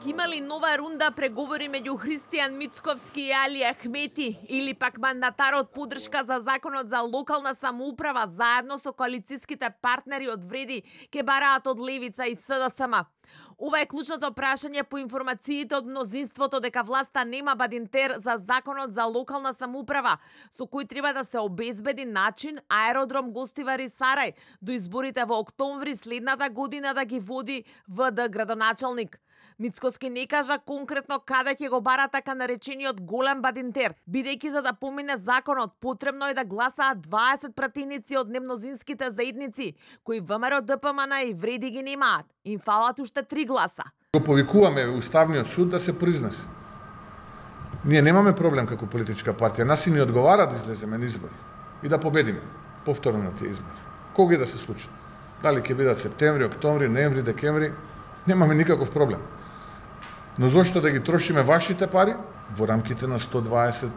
Имали нова рунда преговори меѓу Христијан Мицковски и Али Ахмети или пак мандатарот поддршка за законот за локална самоуправа заедно со коалицијските партнери од Вреди ке бараат од Левица и СДСМ. Ова е клучното прашање по информациите од мнозинството дека власта нема бадинтер за законот за локална самоуправа, со кој треба да се обезбеди начин аеродром Гостивари Сарај до изборите во октомври следната година да ги води ВД градоначалник. Мицковски не кажа конкретно каде ќе го бара така наречениот голем бадинтер, бидејќи за да помине законот потребно е да гласаат 20 пратеници од немнозинските заедници, кои ВМРО, ДПМН и Вреди ги немаат. Им фалат уште 3 гласа. Го повикуваме Уставниот суд да се произнесе. Ние немаме проблем како политичка партија, нас и ни одговара да излеземе на избори и да победиме повторно на тие избори. Кога да се случи? Дали ќе бидат септември, октомври, ноември, декември, немаме никаков проблем. Но зошто да ги трошиме вашите пари во рамките на 120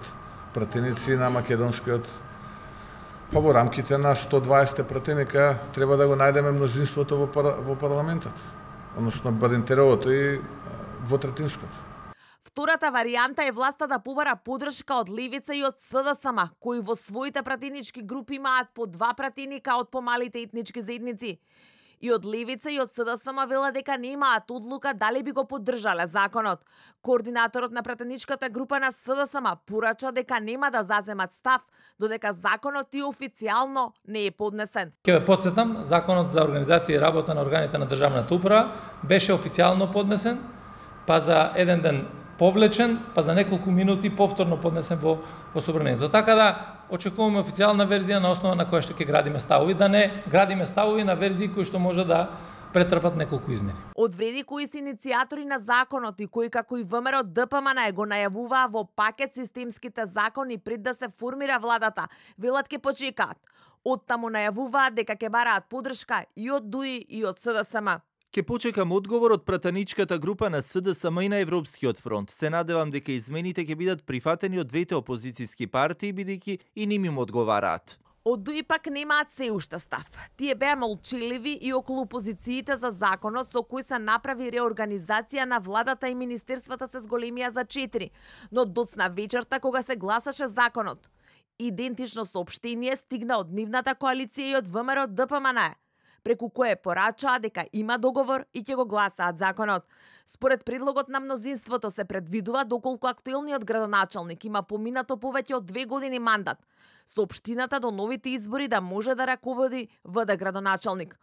пратеници на македонскиот, па во рамките на 120 пратеника треба да го најдеме мнозинството во парламентот, односно бадинтеровото и двотретинското. Втората варијанта е власта да побара поддршка од Левица и од СДСМ, кои во своите пратенички групи имаат по 2 пратеника од помалите етнички заедници. И од Левица и од СДСМ вела дека немаат одлука дали би го поддржале законот. Координаторот на пратеничката група на СДСМ порача дека нема да заземат став, додека законот и официјално не е поднесен. Ќе ве потсетам, законот за организација и работа на органите на државната управа беше официјално поднесен, па за еден ден повлечен, па за неколку минути повторно поднесен во собранието. Така да очекуваме официјална верзија на основа на која што ќе градиме ставови, да не градиме ставови на верзии кои што може да претрпат неколку измени. Од Вреди кои се иницијатори на законот и кои како и ВМРО ДПМН го најавуваа во пакет системските закони пред да се формира владата, велат ке почекаат. Оттаму најавуваат дека ќе бараат поддршка и од ДУИ и од СДСМ. Ке почекам одговор од пратеничката група на СДСМ и на Европскиот фронт. Се надевам дека измените ќе бидат прифатени од двете опозицијски партии, бидејќи и ним им одговараат. Од ДУИ пак немаат се уште став. Тие беа молчеливи и околу позициите за законот со кој се направи реорганизација на владата и министерствата се зголемија за 4, но доцна вечерта кога се гласаше законот. Идентично соопштение стигна од нивната коалиција и од ВМРО ДПМН, преку кое порачаа дека има договор и ќе го гласаат законот. Според предлогот на мнозинството се предвидува доколку актуелниот градоначалник има поминато повеќе од 2 години мандат, со општината до новите избори да може да раководи ВД градоначалник.